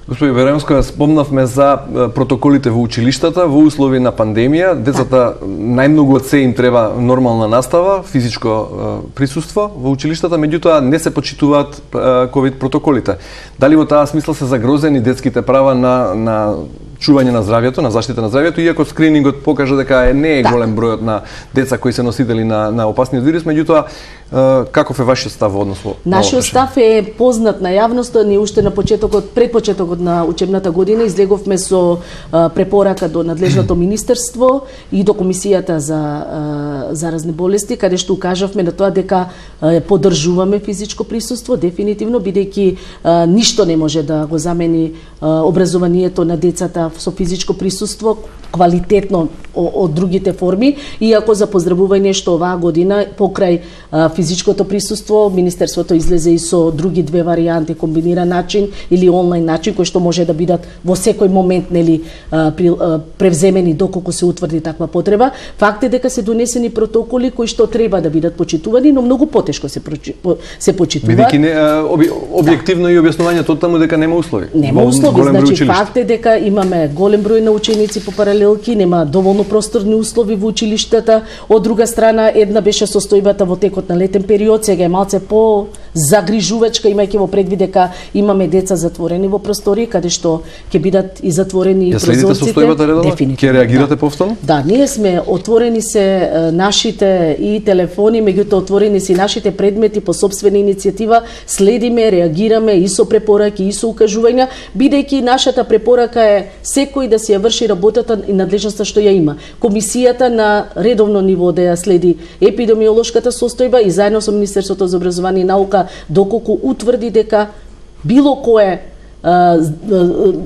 Господи Веремска, спомнавме за протоколите во училиштата во услови на пандемија. Децата најмногу од се им треба нормална настава, физичко присуство во училиштата, меѓутоа не се почитуваат ковид протоколите. Дали во таа смисла се загрозени детските права на чување на здравјето, на заштита на здравјето, иако скринингот покажа дека не е голем бројот на деца кои се носители на опасниот вирус, меѓутоа каков е вашиот став во однос во Нашиот став е познат на јавноста. Ние уште на пред почетокот на учебната година излеговме со препорака до надлежното министерство и до Комисијата за заразни болести, каде што укажавме на тоа дека поддржуваме физичко присуство, дефинитивно, бидејќи ништо не може да го замени образованието на децата со физичко присуство, квалитетно од другите форми, иако за поздравување што оваа година покрај физичкото присуство Министерството излезе и со други две варијанти, комбиниран начин или онлайн начин, кои што може да бидат во секој момент превземени доколку се утврди таква потреба. Факт е дека се донесени протоколи кои што треба да бидат почитувани, но многу потешко се почитуваат. Бидејќи објективно и објаснувањето од таму дека нема услови. Нема услови, значи факт е дека имаме голем број на ученици по паралелки, нема доволно просторни услови во училиштата. Од друга страна, една беше состојбата во текот на летен период, сега е малце по загрижувачка, имајќи во предвид дека имаме деца затворени во простори, каде што ќе бидат и затворени прозорците. Ја следите состојбата редовно? Ќе реагирате повторно? Да, ние сме отворени се нашите и телефони, меѓутоа отворени се нашите предмети по сопствена иницијатива, следиме, реагираме и со препораки и со укажувања, бидејќи нашата препорака е секој да си ја врши работата и надлежноста што ја има. Комисијата на редовно ниво да ја следи епидемиолошката состојба и заедно со Министерството за образование и наука, доколку утврди дека било кое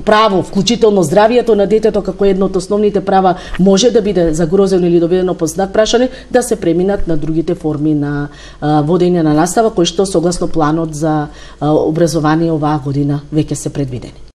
право, вклучително здравието на детето како едно од основните права, може да биде загрозено или доведено под знак прашање, да се преминат на другите форми на водење на настава, кои што согласно планот за образование оваа година веќе се предвидени.